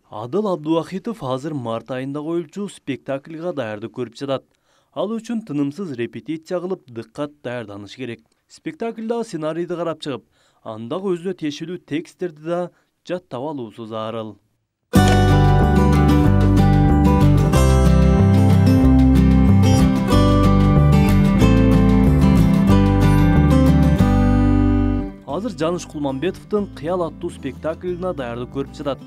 Адыл Абдуахитов азыр март айында коюлчу спектакльга даярдык көрүп жатат. Ал үчүн тынымсыз репетиция кылып, дыккат даярданыш керек. Спектакльдагы сценарийди карап чыгып, андагы өзүнө тиешелүү тексттерди да жаттап алуусу зарыл. Азыр Жаныш Кулманбетовдун Кыял аттуу спектакльына даярдык көрүп жатат.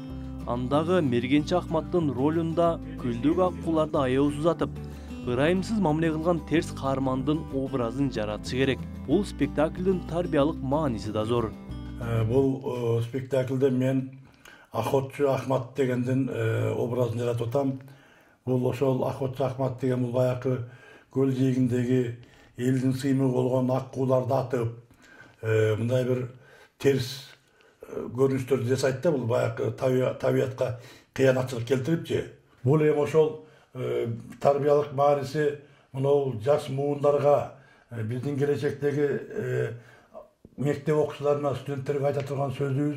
Андагы Мергенчи Ахматтын ролунда күлдүк аккууларды аябыз атып, ырайымсыз мамиле кылган терс каармандын образын жаратыш керек. Бул спектакльдин тарбиялык мааниси да зор. Бул спектакльде мен Охотчу Ахмат дегендин образын жаратып атам. Бул ошол Охотчу Ахмат деген бул баягы көл жээгиндеги элдин сыймыгы болгон аккууларды атып, мындай бир терс көрүнүштөрдү жасайт да, бул баягы табиятка кыянатчылык келтирипчи. Бул эми ошол тарбиялык мааниси мынау жаш муундарга, биздин келечектеги мектеп окуучуларына, студенттерге айта турган сөзүбүз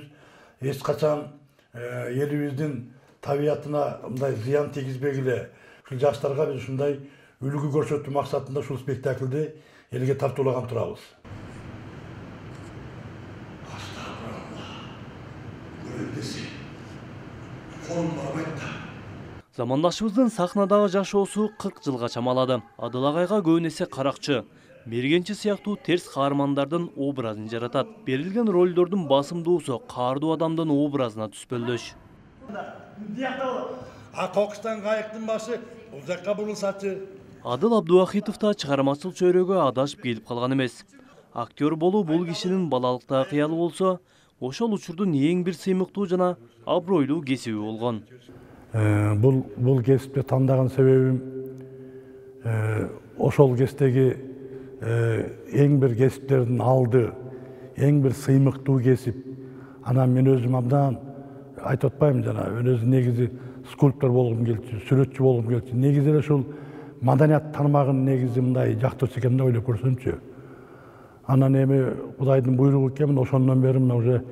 эч качан элибиздин табиятына мындай зыян тийгизбегиле. Ушул жаштарга биз ушундай үлгү көрсөтүү максатында ушул спектакльди элге тартуулаган турабыз. Замандашыбыздын сахнадагы жашоосу 40 жылга чамалады. Адыл агайга көбүн эсе каракчы, Мергенчи сыяктуу терс каармандардын образын жаратат. Берилген ролдордун басымдуусу каардуу адамдын образына түспөлдөш. Кокустан кайыктын башы бул жакка бурулсачы. Адыл Абдуахитов да чыгармачыл чөйрөгө адашып келип калган эмес. Актер болуу бул кишинин балалыктагы кыялы болсо, ошол учурдун эң бир сыймыктуу жана абройлуу кесиби болгон. Бул кесипти тандаган себебим ошол кесиптеги эң бир кесиптердин алды, эң бир сыймыктуу кесип. Анан мен өзүм абдан айтып атпайм, жана мен өзүм негизи скульптор болгум келчү, сүрөтчү болгум келчү. Негизи эле ушул маданият тармагын негизи мындай жактырчу экенин ойлоп көрсөмчү. Анан эми Кудайдын буйругу экен, ошондон бери мына уже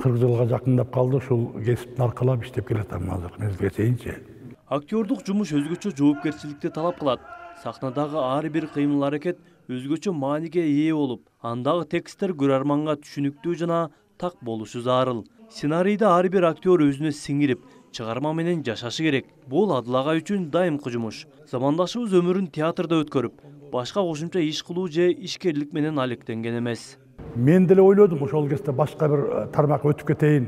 40 жылга жакындап калды, ушул кесиптин аркалап иштеп келатам азыр мезгилге чейинчи. Актёрдук жумуш өзгөчө жоопкерчиликти талап кылат. Сахнадагы ар бир кыймыл аракет өзгөчө мааниге ээ болуп, андагы тексттер көрөрманга түшүнүктүү жана так болушу зарыл. Сценарийди ар бир актер өзүнө сиңирип, чыгарма менен жашашы керек. Бул Адыл агай үчүн дайымкы жумуш. Замандашыбыз өмүрүн театрда өткөрүп, башка кошумча иш кылуу же ишкерлик менен алектенген эмес. Мен деле ойлодум ошол кезде башка бир тармакка өтүп кетейин,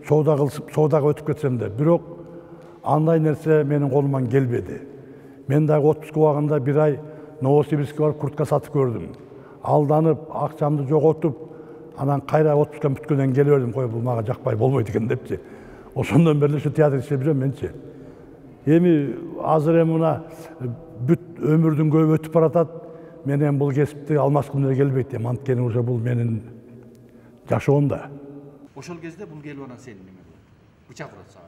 соодага өтүп кетсем де, бирок андай нерсе менин колуман келбеди. Мен дагы отпуска убагында бир ай Новосибирскке барып куртка сатып көрдүм. Алданып, акчамды жоготуп, анан кайра отпуска бүткөндөн келе бердим, кой бул мага жакпай болбойт экен депчи. Ошондон бери ушу театр иштеп жүрөм менчи. Эми азыр эми мына бүт өмүрдүн көбү өтүп баратат. Мен эми бул кесипти алмашкым деле келбейт, анткени уже бул менин жашоом да. Ошол кезде бул келип анан сен неме бычак урат сага.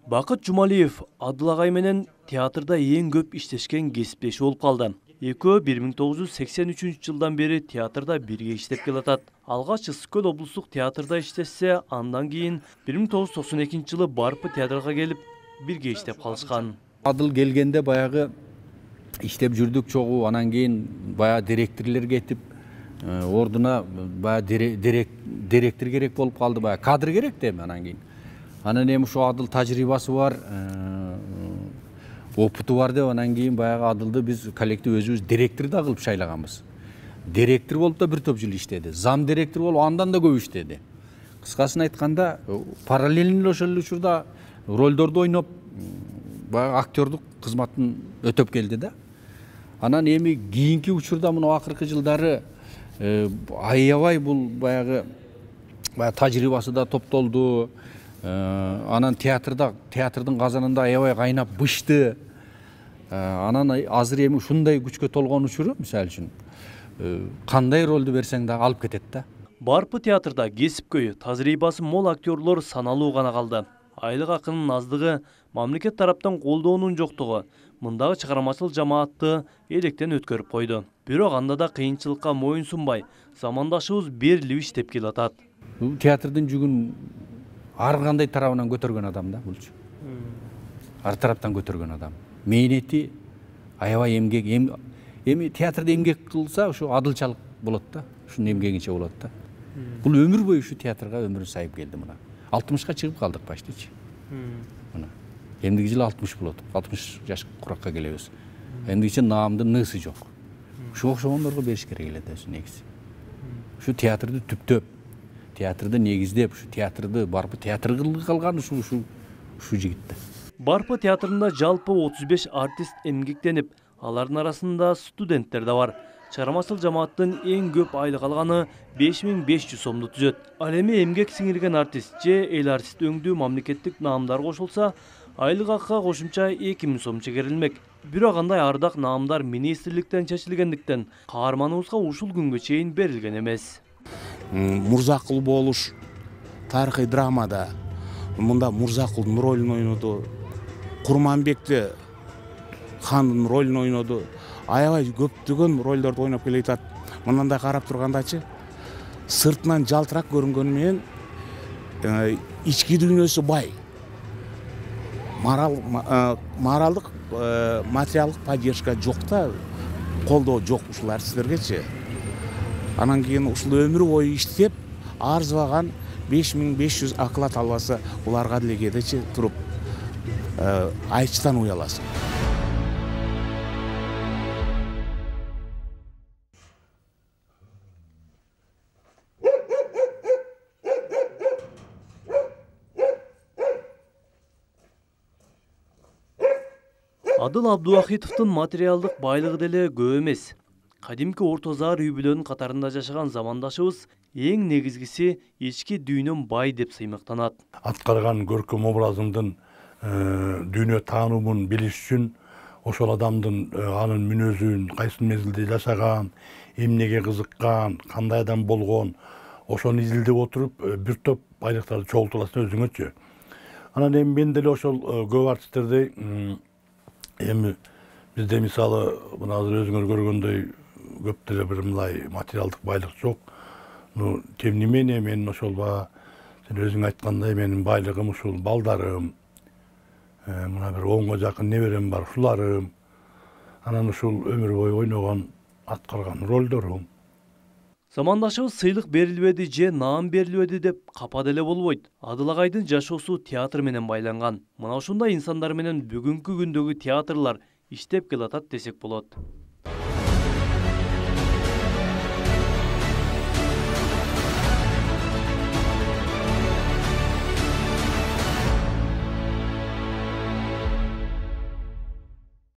Бакыт Жумалиев Адыл агай менен театрда эң көп иштешкен кесиптеши болуп калды. Экөө 1983 жылдан бери театрда бирге иштеп келатат. Алгач Ысык-Көл облустук театрда иштешсе, андан кийин 1992 жылы Барпы театрга келип бирге иштеп калышкан. Адыл келгенде баягы иштеп жүрдүк чогуу, анан кийин баягы директорлор кетип, ордуна баягы директор керек болуп калды, баягы кадр керек да эми анан кийин. Анан эми ошо Адыл тажрыйбасы бар, опыту бар деп анан кийин баягы Адылды биз коллектив өзүбүз директор да кылып шайлаганбыз. Директор болуп да бир топ жыл иштеди, зам директор болуп андан да көп иштеди. Кыскасын айтканда, параллельно ошол учурда ролдорду ойноп, баягы актёрдук кызматын өтөп келди да. Анан эми кийинки учурда мына акыркы жылдары аябай бул баягы тажрыйбасы да топтолду. Анан театрдын казанында аябай кайнап бышты. Анан азыр эми ушундай күчкө толгон учуру, мисалы үчүн, кандай ролду берсең да алып кетет да. Барпы театрда кесипкөй, тажрыйбасы мол актерлор саналуу гана калды. Айлык акынын аздыгы, мамлекет тараптан колдоонун жоктугу мындагы чыгармачыл жамаатты электен өткөрүп койду. Бирок анда да кыйынчылыкка моюн сунбай, замандашыбыз берилип иштеп келатат. Театрдын жүгүн ар кандай тарабынан көтөргөн адам да булчу. ар тараптан көтөргөн адам. Мээнети аябай эмгек, эми театрда эмгек кылса ушу адылчалык болот да, ушунун эмгегинче болот да. Бул өмүр бою ушу театрга өмүрүн сайып келди мына. 60ка чыгып калдык почтичи. Мына. Эмдиги жылы 60 болот. 60 жаш куракка келебиз. Эмдигиче наамдын нысы жок. Ушу окшогондорго бериш керек эле да негизи. Ушу театрды түптөп, театрды негиздеп, ушу театрды барпы театр кылып калган ушу жигит да. Барпы театрында жалпы 35 артист эмгектенип, алардын арасында студенттер да бар. Чыгармачыл жамааттын эң көп айлык алганы 5500 сомду түзөт. Ал эми эмгек сиңирген артист же эл артист өңдүү мамлекеттик наамдар кошулса, айлык акка кошумча 2000 сом чегерилмек. Бирок андай ардак наамдар министрликтен чечилгендиктен каарманыбызга ушул күнгө чейин берилген эмес. Мурзакул болуш тарыхый драмада мында Мурзакулдун ролун ойноду, Курманбекти хандын ролун ойноду. Аябай көптөгөн ролдорду ойноп келе жатат. Мындай карап тургандачы сыртынан жалтырак көрүнгөнү менен ички дүйнөсү бай. Моралдык, материалдык поддержка жок да, колдоо жок ушул артисттергечи. Анан кийин ушул өмүр бою иштеп, арзыбаган 5500 оклад албаса, буларга деле кедечи туруп айчтан уяласың. Адыл Абдуахитовдун материалдык байлыгы деле көп эмес. Кадимки орто заар үй бүлөнүн катарында жашаган замандашыбыз эң негизгиси ички дүйнөм бай деп сыймыктанат. Аткарган көркөм образымдын дүйнө таануун билиш үчүн ошол адамдын анын мүнөзүн, кайсы мезгилде жашаган, эмнеге кызыккан, кандай адам болгон, ошону изилдеп отуруп бир топ байлыктарды чогултуласың өзүңөчү. Анан эми мен деле ошол көп артисттердей эми бизде мисалы мына азыр өзүңөр көргөндөй көп деле бир мындай материалдык байлык жок. Тем не менее мен ошол сен өзүң айткандай менин байлыгым ушул балдарым, мына бир 10га жакын неберем бар, ушуларым, анан ушул өмүр бою ойногон, аткарган ролдорум. Замандашыбыз сыйлык берилбеди же наам берилбеди деп капа деле болбойт. Адыл агайдын жашоосу театр менен байланган. Мына ушундай инсандар менен бүгүнкү күндөгү театрлар иштеп келатат десек болот.